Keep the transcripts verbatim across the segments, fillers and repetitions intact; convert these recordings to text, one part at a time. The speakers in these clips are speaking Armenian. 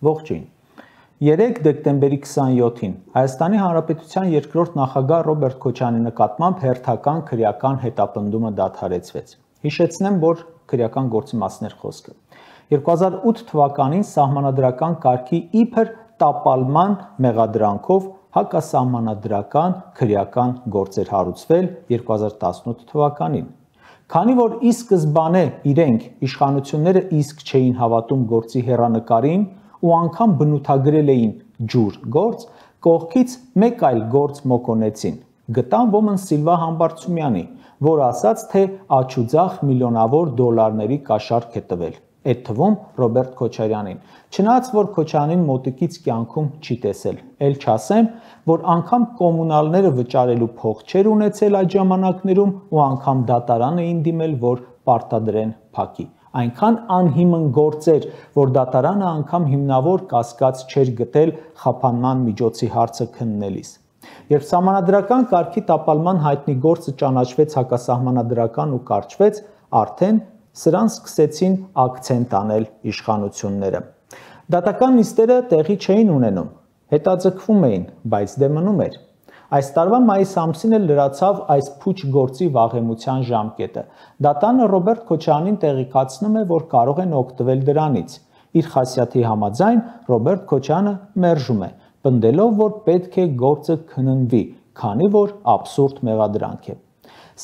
Ողջույն։ երեք դեկտեմբերի քսանյոթին Հայաստանի Հանրապետության երկրորդ նախագահ Ռոբերտ Քոչարյանի նկատմամբ հերթական քրեական հետապնդումը դադարեցվեց։ Հիշեցնեմ, որ քրեական գործի մասն էր խոսքը։ երկու հազար ութ թվականին սահմանադրական կարգի իբր տապալման մեղադրանքով հակասահմանադրական քրեական գործ էր հարուցվել երկու հազար տասնութ թվականին։ Քանի որ ի սկզբանե իրենք իշխանությունները իսկ չէին հավատում գործի հեռանկարին ու անգամ բնութագրել էին ջուր գործ, կողքից մեկ այլ գործ մոկոնեցին, գտան ոմն Սիլվա Համբարձումյանի, որ ասաց, թե աջուձախ միլիոնավոր դոլարների կաշառք է տվել, այդ թվում Ռոբերտ Քոչարյանին, չնայած որ Քոչարյանին մոտիկից կյանքում չի տեսել, էլ չասեմ, որ անգամ կոմունալները վճարելու փող չեր ունեցել այդ ժամանակներում ու անգամ դատարան էին դիմել, որ պարտադրեն փակի։ Այնքան անհիմն գործ էր, որ դատարանը անգամ հիմնավոր կասկած չէր գտել խափանման միջոցի հարցը քննելիս։ Երբ սահմանադրական կարգի տապալման հայտնի գործը ճանաչվեց հակասահմանադրական ու կարճվեց, արդեն սրան սկսեցին ակցենտ անել իշխանությունները։ Դատական նիստերը տեղի չէին ունենում, հետաձգվում էին, բայց դե մնում էր։ Այս տարվա մայիս ամսին էլ լրացավ այս փուչ գործի վաղեմության ժամկետը։ Դատանը Ռոբերտ Քոչարյանին տեղեկացնում է, որ կարող են օգտվել դրանից։ Իր խասյաթի համաձայն Ռոբերտ Քոչարյանը մերժում է, պնդելով, որ պետք է գործը քննվի, քանի որ աբսուրդ մեղադրանք է։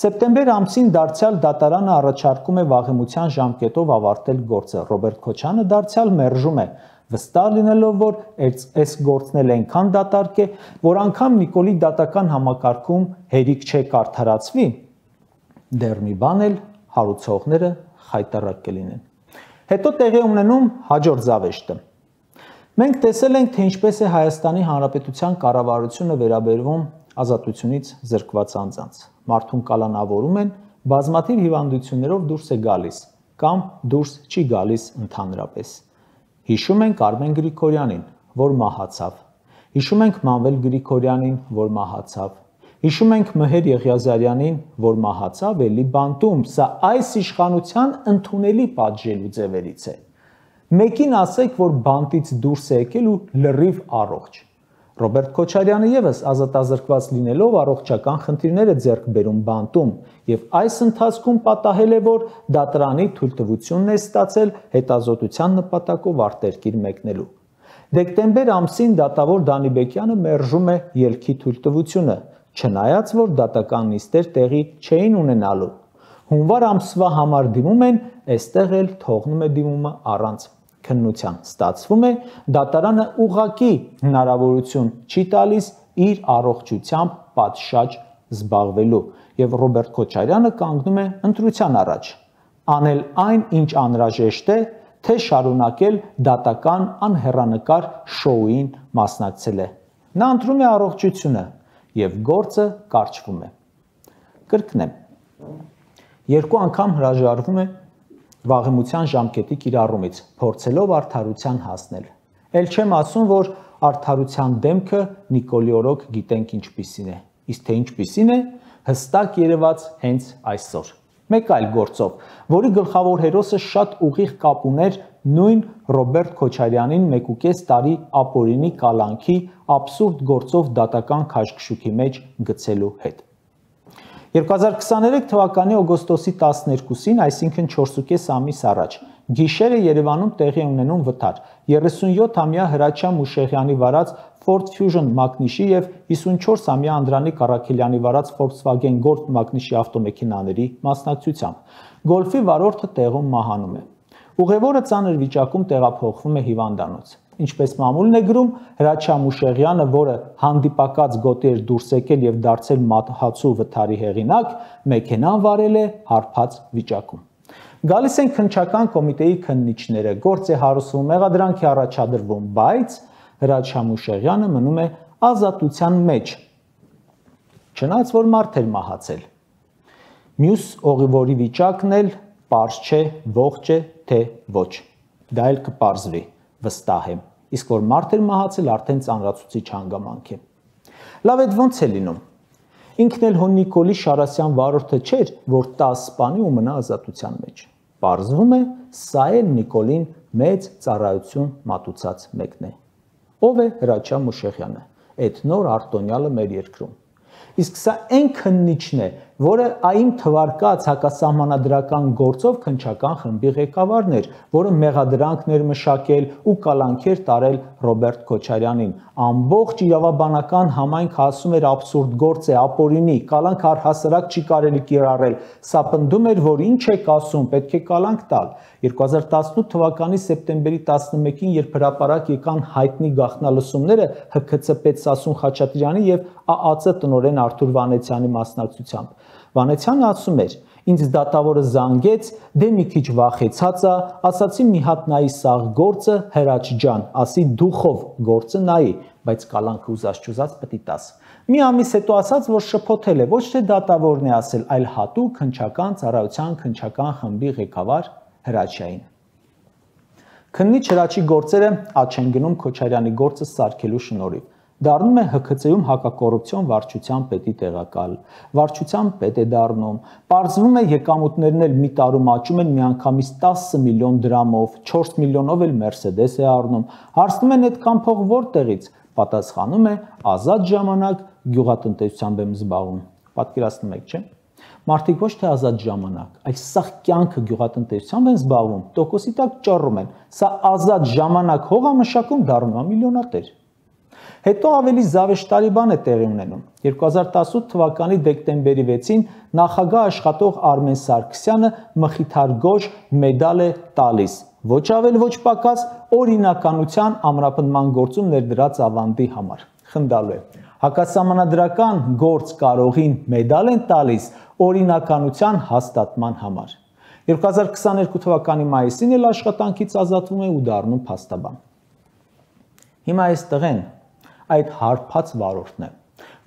Սեպտեմբեր ամսին դարձյալ դատարանը առաջարկում է վաղեմության ժամկետով ավարտել գործը։ Ռոբերտ Քոչարյանը դարձյալ մերժում է, վստահ լինելով, որ այս գործն էլ այնքան դատարկ է, որ անգամ Նիկոլի դատական համակարգում հերիք չէ կարդարացվի, դեռ մի բան էլ հարուցողները խայտառակ կլինեն։ Հետո տեղի ունենում հաջորդ զավեշտը։ Մենք տեսել ենք, թե ինչպես է Հայաստանի Հանրապետության կառավարությունը վերաբերվում ազատությունից զրկված անձանց։ Մարդուն կալանավորում են, բազմաթիվ հիվանդություններով դուրս է գալիս կամ դուրս չի գալիս ընդհանրապես։ Հիշում ենք Արմեն Գրիգորյանին, որ մահացավ։ Հիշում ենք Մանվել Գրիգորյանին, որ մահացավ։ Հիշում ենք Մհեր Եղիազարյանին, որ մահացավ էլի բանտում։ Սա այս իշխանության ընդունելի պատժելու ձևերից է։ Մեկին ասեք, որ բանտից դուրս է եկել ու լրիվ առողջ։ Ռոբերտ Քոչարյանը ևս ազատազրկված լինելով առողջական խնդիրներ է ձեռք բերում բանտում եւ այս ընթացքում պատահել է, որ դատարանի թույլտվությունն է ստացել հետազոտության նպատակով արտերկիր մեկնելու։ Դեկտեմբեր ամսին դատավոր Դանիբեկյանը մերժում է ելքի թույլտվությունը, չնայած որ դատական նիստեր տեղի չէին ունենալու։ Հունվար ամսվա համար դիմում են, այստեղ էլ թողնում է դիմումը առանց քննության։ Ստացվում է, դատարանը ուղղակի հնարավորություն չի տալիս իր առողջությամբ պատշաճ զբաղվելու եւ Ռոբերտ Քոչարյանը կանգնում է ընտրության առաջ, անել այն, ինչ անհրաժեշտ է, թե շարունակել դատական անհեռանկար շոուին մասնակցել է։ Նա ընտրում է առողջությունը եւ գործը կարճվում է։ Կրկնեմ, երկու անգամ հրաժարվում է վաղեմության ժամկետի կիրառումից, փորձելով արդարության հասնել։ Էլ չեմ ասում, որ արդարության դեմքը Նիկոլի օրոք գիտենք ինչպիսին է, իսկ թե ինչպիսին է, հստակ երևաց հենց այսօր։ Մեկ այլ գործով, որի գլխավոր հերոսը շատ ուղիղ կապ ուներ նույն Ռոբերտ Քոչարյանին մեկուկես տարի ապօրինի կալանքի աբսուրդ գործով դատական քաշքշուկի մեջ գցելու հետ։ երկու հազար քսաներեք թվականի օգոստոսի տասներկուսին, այսինքն չորսուկես ամիս առաջ, գիշերը Երևանում տեղի ունենում վթար։ երեսունյոթամյա Հրաչյա Մուշեղյանի վարած Ford Fusion մակնիշի եւ հիսունչորսամյա Անդրանիկ Առաքելյանի վարած Volkswagen Golf մակնիշի ավտոմեքենաների մասնակցությամբ։ Գոլֆի վարորդը տեղում մահանում է։ Ուղևորը ծանր վիճակում տեղափոխվում է հիվանդանոց։ Ինչպես մամուլն է գրում, Հրաչյա Մուշեղյանը, որը հանդիպակաց գոտի էր դուրս եկել եւ դարձել մատհացու վթարի հեղինակ, մեքենան վարել է հարբած վիճակում։ Գալիս են քննչական կոմիտեի քննիչները, գործ է հարուցվում, մեղադրանք է առաջադրվում, բայց Հրաչյա Մուշեղյանը մնում է ազատության մեջ, չնայած որ մարդ էր մահացել։ Մյուս ուղևորի վիճակն էլ պարզ չէ, ողջ է, թե ոչ։ Դա էլ կպարզվի, վստահ եմ, իսկ որ մարդ էր մահացել, արդեն ծանրացուցիչ հանգամանք է։ Լավ, այդ ոնց է լինում։ Ինքն էլ հո Նիկոլի Շարասյան վարորդը չէր, որ տաս սպանի ու մնա ազատության մեջ։ Պարզվում է, սա էլ Նիկոլին մեծ ծառայություն մատուցած մեկն է։ Ով է Հրաչյա Մուշեղյանը, այդ նոր արտոնյալը մեր երկրում։ Իսկ սա այն քննիչն է, որը այն թվարկած հակասահմանադրական գործով քննչական խմբի ղեկավարն էր, որը մեղադրանքներ մշակել ու կալանքեր տարել Ռոբերտ Քոչարյանին։ Ամբողջ իրավաբանական համայնքը ասում էր աբսուրդ գործ է, ապօրինի, կալանք առհասարակ չի կարելի կիրառել։ Սա պնդում էր, որ ինչ եք ասում, պետք է կալանք տալ։ երկու հազար տասնութ թվականի սեպտեմբերի տասնմեկին, երբ հրապարակ եկան հայտնի գաղտնալսումները Հ K C պետսասուն Խաչատրյանի եւ Ա Ա Ծ տնօրեն Արթուր Վանեցյանի մասնակցությամբ, Վանեցյանը ասում էր. ինձ դատավորը զանգեց, դե մի քիչ վախեցած է, ասացի մի հատ նայի սաղ գործը Հրաչ ջան, ասի դուխով գործը նայի, բայց կալանքը ուզած-չուզած պիտի տաս։ Մի ամիս հետո ասաց, որ շփոթել է, ոչ թե դատավորն է ասել, այլ հատուկ քննչական ծառայության քննչական խմբի ղեկավար Հրաչյային։ Քննիչ Հրաչի գործերը աճ են գնում Քոչարյանի գործը սարքելու շնորհիվ։ Դառնում է Հ K C-ում հակակոռուպցիոն վարչության պետի տեղակալ, վարչության պետ է դառնում, պարզվում է եկամուտներն էլ մի տարում աճում են միանգամից տասը միլիոն դրամով, չորս միլիոնով էլ Մերսեդես է առնում, հարցնում են այդքան փող որտեղից, պատասխանում է ազատ ժամանակ գյուղատնտեսությամբ եմ զբաղվում, պատկերացնում եք, չէ՞։ Մարդիկ ոչ թե ազատ ժամանակ, այլ սաղ կյանքը գյուղատնտեսությամբ են զբաղվում, տոկոսի տակ ճառում են, սա ազատ ժամանակ հողամշակում դառնում է միլիոնատեր։ Հետո ավելի զավեշտարի բան է տեղի ունենում։ երկու հազար տասնութ թվականի դեկտեմբերի վեցին նախագահ աշխատող Արմեն Սարգսյանը մխիթարգորժ մեդալ է տալիս, ոչ ավել ոչ պակաս, օրինականության ամրապնդման գործում ներդրած ավանդի համար։ Խնդալու է։ Հակասահմանադրական գործ կարողին մեդալ են տալիս օրինականության հաստատման համար։ երկու հազար քսաներկու թվականի մայիսին էլ աշխատանքից ազատվում է ու դառնում փաստաբան։ Հիմա այստեղ են այդ հարբած վարորդն է,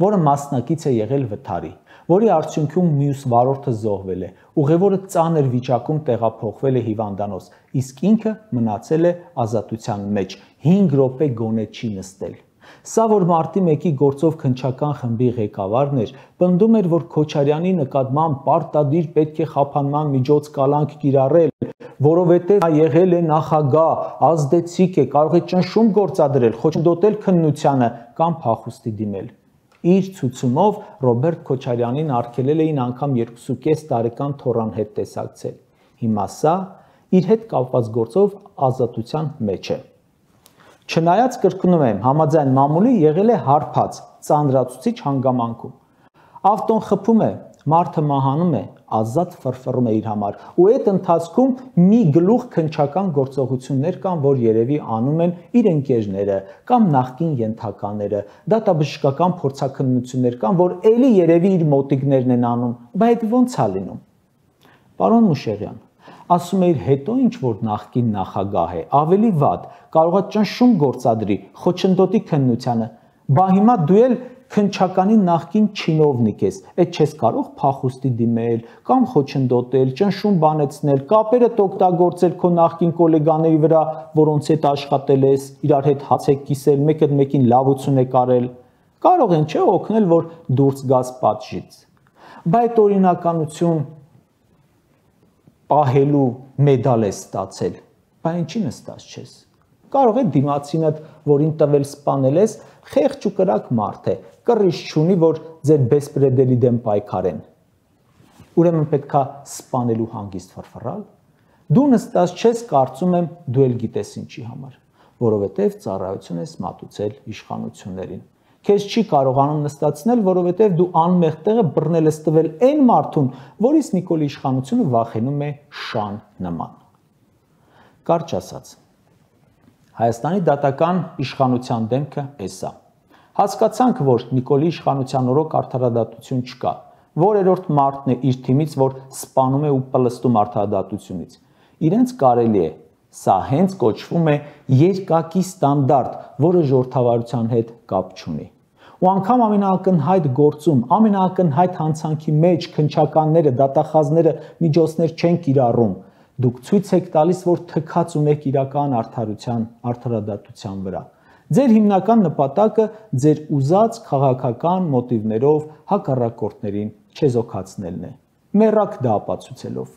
որը մասնակից է եղել վթարի, որի արդյունքում մյուս վարորդը զոհվել է, ուղևորը ծանր վիճակում տեղափոխվել է հիվանդանոց, իսկ ինքը մնացել է ազատության մեջ, հինգ րոպե գոնե չի նստել։ Սա, որ մարտի մեկի գործով քննչական խմբի ղեկավարն էր, պնդում էր, որ Քոչարյանի նկատմամբ պարտադիր պետք է խափանման միջոց կալանք կիրառել, որովհետև նա եղել է նախագահ, ազդեցիկ է, կարող է ճնշում գործադրել, խոչընդոտել քննությանը կամ փախուստի դիմել։ Իր ցուցումով Ռոբերտ Քոչարյանին արգելել էին անգամ երկուսուկես տարեկան թոռան հետ տեսակցել։ Հիմա սա իր հետ կապված գործով ազատության մեջ է։ Չնայած կրկնում եմ, համաձայն մամուլի եղել է հարբած, ծանրացուցիչ հանգամանքում։ Ավտոն խփում է, մարդը մահանում է, ազատ ֆրֆռում է իր համար, ու այդ ընթացքում մի գլուխ քննչական գործողություններ կան, որ երևի անում են իր ընկերները կամ նախկին ենթականները, դատաբժշկական փորձաքննություններ կան, որ ելի երևի իր մոտիկներն են անում, բայց ո՞նց է լինում։ Պարոն Մուշեղյան, ասում էիր հետո ինչ որ նախկին նախագահ է, ավելի վատ, կարող է ճնշում գործադրի, խոչընդոտի քննությանը, բա հիմա դու էլ քննչականի նախկին չինովնիկ ես, այդ չես կարող փախուստի դիմել կամ խոչընդոտել, ճնշում բանեցնել, կապերդ օգտագործել քո նախկին գոլեգաների վրա, որոնց հետ աշխատել ես, իրար հետ հաց եք կիսել, մեկը մեկին լավություն եք արել, կարող են չէ օգնել, որ դուրս գաս պատժից։ Բայց օրինականություն պահելու մեդալ է ստացել, բայց ինչի նստած չես։ Կարող է դիմացինդ, որին տվել սպանել ես, խեղճ ու կրակ մարդ է, կռիչ չունի, որ ձեր բեսպրեդերի դեմ պայքարեն։ Ուրեմն պետքա սպանելու հանգիստ ֆրֆռալ։ Դու նստած չես, կարծում եմ, դու էլ գիտես ինչի համար, որովհետև ծառայություն ես մատուցել իշխանություններին։ Քեզ չի կարողանում նստացնել, որովհետև դու անմեղ տեղը բռնել ես տվել այն մարդուն, որից Նիկոլի իշխանությունը վախենում է շան նման։ Կարճ ասած, Հայաստանի դատական իշխանության դեմքը էս է։ Հասկացանք, որ Նիկոլի իշխանության օրոք արդարադատություն չկա, որերորդ մարդն է իր թիմից, որ սպանում է ու պլստում արդարադատությունից։ Իրենց կարելի է, սա հենց կոչվում է երկակի ստանդարտ, որը ժողովրդավարության հետ կապ չունի։ Ու անգամ ամենաակնհայտ գործում, ամենաակնհայտ հանցանքի մեջ քննչականները, դատախազները միջոցներ չեն կիրառում։ Դուք ցույց եք տալիս, որ թքած ունեք իրական արդարության, արդարադատության վրա։ Ձեր հիմնական նպատակը ձեր ուզած քաղաքական մոտիվներով հակառակորդներին չեզոքացնելն է։ Մեռակ դա ապացուցելով։